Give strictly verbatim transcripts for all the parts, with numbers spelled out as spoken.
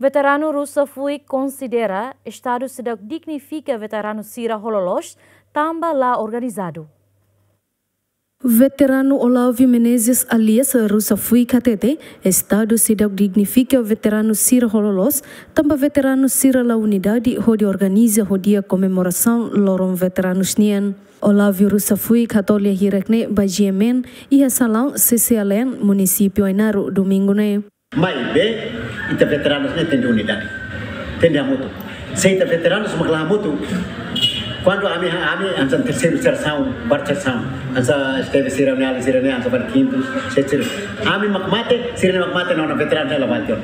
Veteranu Rusa Fuik konsidera Estadu seidauk dignifika veteranu sira ho loloos tanba la organizadu. Veteranu Olávio Menezes alias Rusa Fuik hatete, Estadu seidauk dignifika veteranu sira ho loloos tanba veteranu sira la unidade hodi organiza ho di'ak komemorasaun loron veteranus nian. Olávio Rusa Fuik hato'o lia hirak ne'e ba G M N iha salaun C C L N, Munisípiu Ainaro, Domingu ne'e. Maibé, ita veteranus ne'e tenke unidade. Tenke hamutuk. Se ita veteranus mak la hamutuk, kuandu ami, ami hanesan terseiru serasaun, barak serasaun, hanesan Esteve sira-nia alin sira-ne'e, hanesan Bani Quintus, sira-sira. Ami mak mate, sira-ne'e mak mate, no, no veteranus ne'e la mate.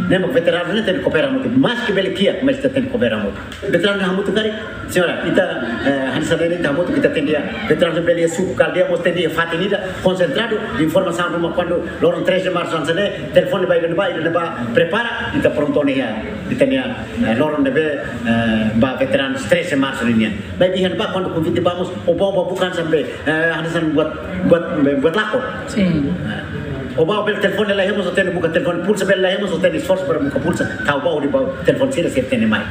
Ne'e mak veteranus ne'e tenke koopera hamutuk. Maske bele kiak, mas ita tenke koopera hamutuk. Veteranu hamutuk karik, señora, ita, eh, hanesan ne'e ita hamutuk, ita tenke, veteranu bele suku kala dehan mós tenke fatin ida konsentradu, informasaun ruma kuandu loron três de março hanesan ne'e, telefone ba ida-ne'ebá, ida-ne'ebá prepara, ita prontu ona iha, ita-nia, eh, loron ne'ebé, eh, ba veteranu três de março nian. Maibé iha ne'ebá kuandu konvite ba mós, o bau ba bukan sampai, eh, hanesan buat, buat, buat lakon. Sin. Eh, o bau bele telefone la iha mós, o tenke buka telefone, pulsa bele la iha mós, o tenke esforsu para buka pulsa, tau bau di bau telefone sira, sira tenke mai.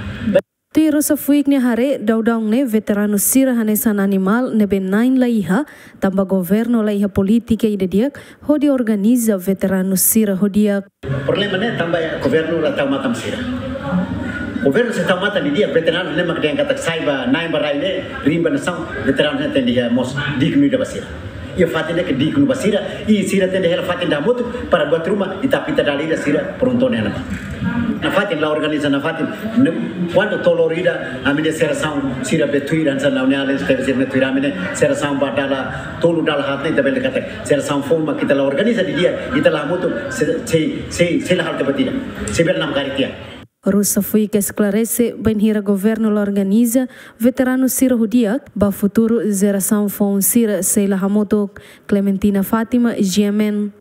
Tuir Rusa Fuik nia haree, daudaun ne'e veteranu sira hanesan animál ne'ebé na'in la iha, tanba governu la iha polítika ida di'ak hodi organiza veteranu sira ho di'ak. Problema ne'e tanba governu la tau matan sira. Governu se tau matan didi'ak, veteranu ne'e mak dehan katak sai ba na'in ba rai ne'e, rimba nasaun, veteranu ne'e tenke iha mós dignu ida ba sira. Iha fatin ne'e ke dignu ba sira, i sira tenke hela fatin ida hamutuk, para buat ruma, ita apita dala ida sira prontu ona iha ne'ebá. Nafatin la organiza nafatin, ne-, kuandu to'o loron ida, ami-nia serasaun sira be tuir, hanesan ha'u-nia alin, Esteve sira-ne'e tuir ami-nia serasaun ba dala tolu dala haat ne'e, ita bele katak serasaun foun mak ita la organiza didi'ak, ita la hamutuk, se, se, se, sei la halo tiha ba ida. Sei bele namkari tiha. Rusa Fuik esklarese, bainhira governu la organiza veteranu sira ho di'ak, ba futuru jerasaun foun sira sei la hamutuk. Clementina Fátima, G M N.